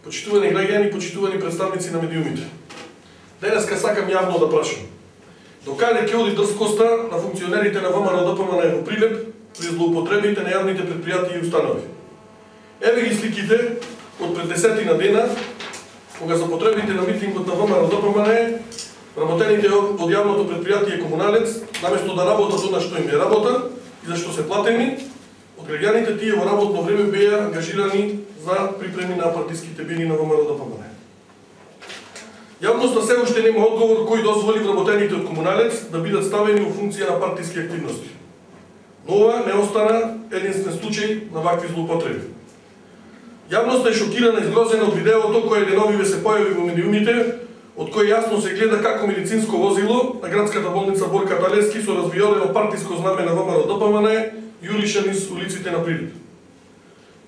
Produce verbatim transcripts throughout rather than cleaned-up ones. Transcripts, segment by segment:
Почитувани граѓани, почитувани представници на медиумите. Денеска сакам јавно да прашам. Докаде ќе оди дрскоста на функционерите на ВМРО-ДПМН во Прилеп при злоупотребите на јавните предпријатија и установи? Еве ги сликите од пред десетина дена, кога за потребите на митингот на ВМРО-ДПМН, работените од јавното предпријатие Комуналец, наместо да работат она што им е работа и за што се платени, од граѓаните тие во работно време беа ангажирани за припреми на партиските бини на ВМРО-ДПМН. Јавноста се уште нема одговор кој дозволи вработените од Комуналец да бидат ставени во функција на партиски активности. Но ова не остана единствен случај на вакви злоупотреби. Јавноста е шокирана и згрозена од видеото кое деновиве се појави во медиумите, од кој јасно се гледа како медицинско возило на градската болница Борка Талевски со развиорено партиско знаме на ВМРО-ДПМН јурише низ улиците на Прилеп.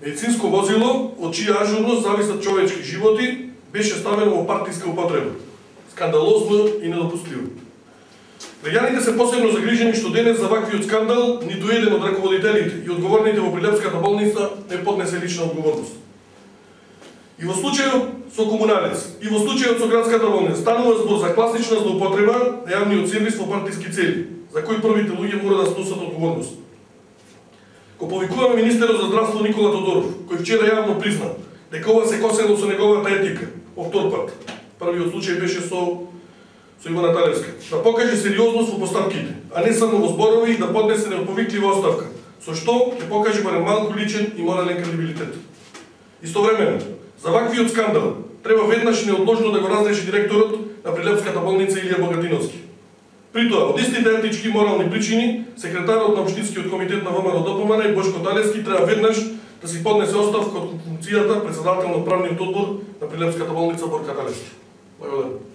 Медицинско возило од чија ажурност зависат човечки животи беше ставено во партиска употреба. Скандалозно и недопустимо. Граѓаните се посебно загрижени што денес за ваквиот скандал ниту еден од раководителите и одговорните во Прилепската болница не поднесе лична одговорност. И во случајот со Комуналец, и во случајот со градската болница станува збор за класична злоупотреба на јавниот сервис во партиски цели, за кој првите луѓе мора да сносат одговорност. Ко повикуваме министерот за здравство Никола Тодоров, кој вчера јавно призна дека ова се косело со неговата етика, по втор пат. Првиот случај беше со со Ивана Талевска. Да покаже сериозност во постапките, а не само во зборови и да поднесе неповиклива оставка, со што ќе покаже барем малку личен и морален кредибилитет. Истовремено, за ваквиот скандал треба веднаш неодложно да го разреши директорот на Прилепската болница Илија Богатиновски. При тоа, од истите етички и морални причини, секретарот на Општинскиот комитет на ВМРО-ДПМН Бошко Талевски треба веднаш да си поднесе оставка од функцијата председател на управниот одбор на Прилепската болница Борка Талевски. Благодарам.